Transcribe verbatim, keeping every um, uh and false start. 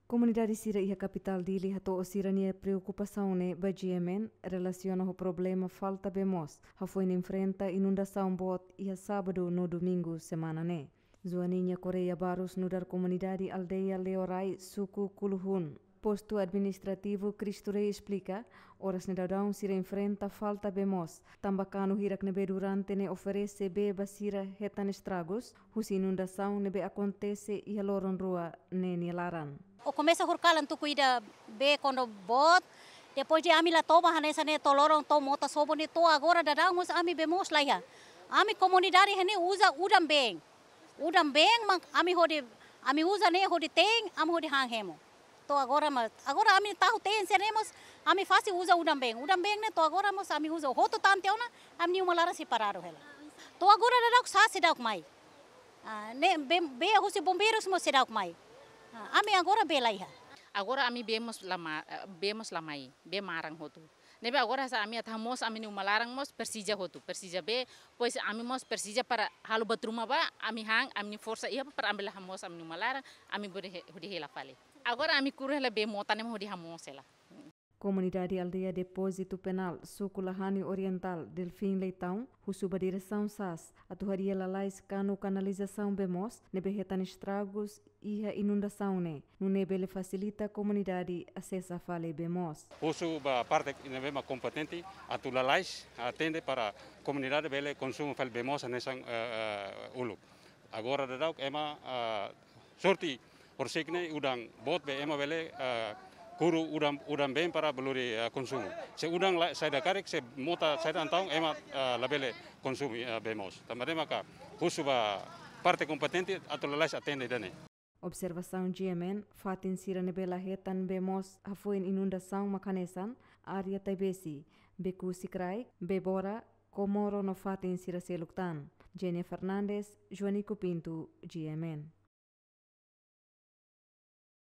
Komunidade sira iha kapitál Dili hato'o sira-nia preokupasaun ne'e ba G M N relasiona ho problema falta bee moos, hafoin enfrenta inundasaun boot iha sábadu no domingu semana ne'e. Joaninha Correia Barros, nu'udar komunidade aldeia Leorai, suku Kuluhun, postu administrativu Cristo Rei, esplika, oras ne'e daudaun sira enfrenta falta bee moos, tanba kanu hirak ne'ebé durante ne'e oferese bee ba sira hetan estragus, husi inundasaun ne'ebé akontese iha loron rua ne'e nia laran. Ó komesa horikalan tuku ida bee kuandu boot, depois de ami la toba hanesan ne'e to'o loron to'o mota sobu ne'e to'o agora daudaun mós ami bee moos laiha. Ami komunidade iha ne'e uza udan-been. Udan-been mak ami hodi, ami uza ne'e hodi te'in, ami hodi han hemu. To'o agora mós, agora ami tahu te'in sira ne'e mós, ami fase uza udan-been. Udan-been ne'e to'o agora mós ami uza hotu tan tiha ona, ami-nia uma laran sei paradu hela. To'o agora daudauk sá seidauk mai. Ah, ne'e bee, bee husi bombeirus mós seidauk mai. Ah, ami agora bee laiha. Agora ami bee mós la ma-, eh, bee mós la mai, bee maran hotu. Ne'ebé agora hanesan ami atu hamoos ami-nia uma laran mós presiza hotu, presiza bee, depois ami mós presiza para halo buat ruma ba, ami han, ami-nia forsa iha para ami bele hamoos ami-nia uma laran, ami bele he-, hodi hela fali. Agora ami kuru hela bee mota ne'e hodi hamoos hela. Komunidade aldeia Depózitu Penál, suku Lahani Orientál, Delfim Leitão, husu ba diresaun sas atu harii lalais kanu kanalizasaun bee moos ne'ebé hetan estragus iha inundasaun ne'e, nune'e bele fasilita komunidade asesa fali bee moos. Husu ba parte ne'ebé mak kompetente atu lalais atende para komunidade bele konsumu fali bee moos hanesan, eh, eh, uluk. Agora daudauk ema, eh, sorte horisehik ne'e udan boot be ema bele, eh, kuru udan, udan-been para bele lori, eh, konsumu. Se udan la, saida karik, se mota saida entaun ema, eh, labele konsumu, eh, bee moos. Tanba ne'e maka husu ba parte kompetente atu lalais atende ida-ne'e. Observasaun G M N, fatin sira ne'ebé la hetan bee moos hafoin inundasaun mak hanesan área Taibesi, Beku Sikraik, Bebora, Komoro no fatin sira seluk tan. Jenny Fernandes, Joanico Pinto, G M N.